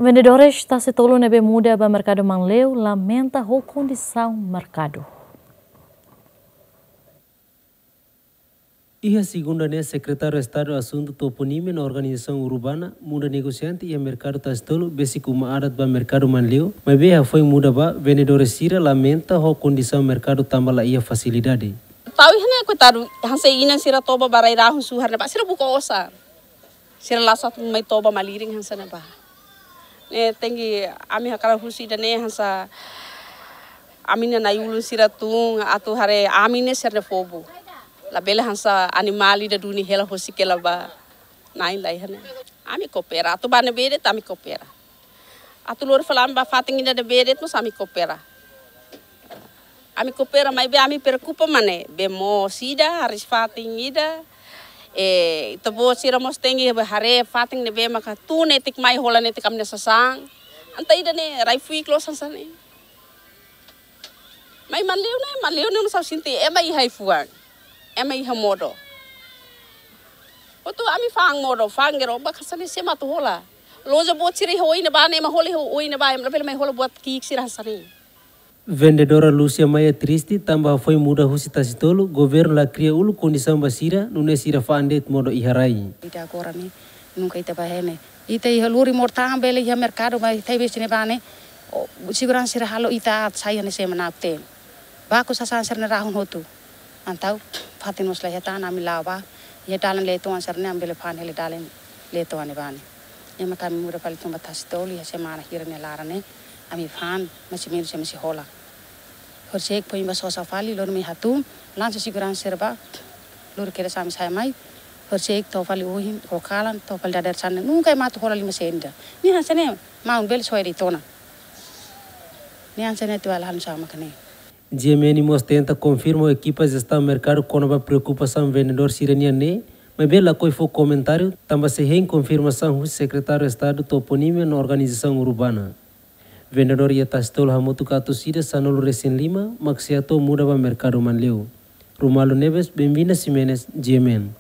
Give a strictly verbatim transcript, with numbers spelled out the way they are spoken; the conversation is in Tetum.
Vendedores tasi-tolu ne'ebé muda ba merkadu Manleu lamenta ho kondisaun merkadu. Iha segunda ne'e, Sekretáriu Estadu Asuntu Toponímia no Organizasaun Urbana muda negosiante iha merkadu tasi-tolu besik uma adat ba merkadu Manleu, maibé hafoin muda ba, vendedores sira lamenta ho kondisaun merkadu tanba la iha fasilidade. Tau iha ne'e koitadu, hanesan inan sira toba ba rai-rahun suhar ne'ebá, sira buka osan. Sira la satu mai toba malirin hanesan ne'ebá. Ne'e tenke ami hakarak husu ida-ne'e hanesan ami-nia na'i-ulun sira tun atu haree ami ne'e sira-nia povu. Labele hanesan animál ida duni hela husik hela ba na'in lai iha ne'e. Ami koopera, atu ba ne'ebé de'it ami koopera. Atu lori fali ami ba fatin ida ne'ebé de'it mós ami koopera. Ami koopera maibé ami preokupa mak ne'e, bee moos ida, hariis-fatin ida. Eh, ita-boot sira mós tenke haree fatin ne'ebé maka tun netik mai hola netik ami-nia sasán. Entaun ida-ne'e rai-fuik loos hanesan ne'e. Mai Manleu ne'e, Manleu ne'e nusá sente ema iha ai-fuan, ema iha modo. Hotu ami fa'an modo, fa'an gerobak hanesan ne'e sé mak atu hola. Loja boot sira iha oin ne'ebá ne'e ema hola iha oin ne'ebá, ema labele mai hola buat ki'ik sira hanesan ne'e. Vendedora Lúcia Maia triste tanba hafoin muda husi tasi-tolu, governu la kria uluk kondisaun ba sira, nune'e sira fa'an de'it modo iha rai. Ita agora ne'e, nunka ita ba iha ne'e. Ita iha lori mortang bele iha merkadu ba ita besi ne'ebá ne'e. O, seguransa sira halo ita aat sai iha ne'e semana ten. Baku sasán sira-ne'e rahun hotu. Entaun, fatin mós la iha tan ami la'o ba. Iha dalan Letoan sira-ne'e ami bele fa'an hela dalan Letoan ne'ebá ne'e. Ne'e mak ami muda fali tun ba tasi-tolu iha semana hira nia laran ne'e. Ami fa'an, mais ou menus ami sei hola. Horisehik foin ba sosa fali, lori mai hatún, lansa seguransa sira ba, lori kedas ami sai mai, horisehik to'o fali ohin, ho kalan, to'o fali dadeer-saan, nunka ema atu hola lima sen ida. Ne'e hanesan ne'e, maun bele soe de'it ona. Ne'e hanesan ne'e atu ala hanu sama kane. G M N mós tenta konfirma ho ekipa jestaun merkadu kona-ba preokupasaun vendedór sira-nian ne'e, maibé lakohi fó komentáriu, tanba sei hein konfirmasaun husi Sekretáriu Estadu Toponímia no Organizasaun Urbana. Vendedór iha tasi-tolu hamutuk atus ida sanulu resin lima, mak sei hato'o muda ba merkadu Manleu. Romualdo Neves, Benvinda Ximenes, G M N.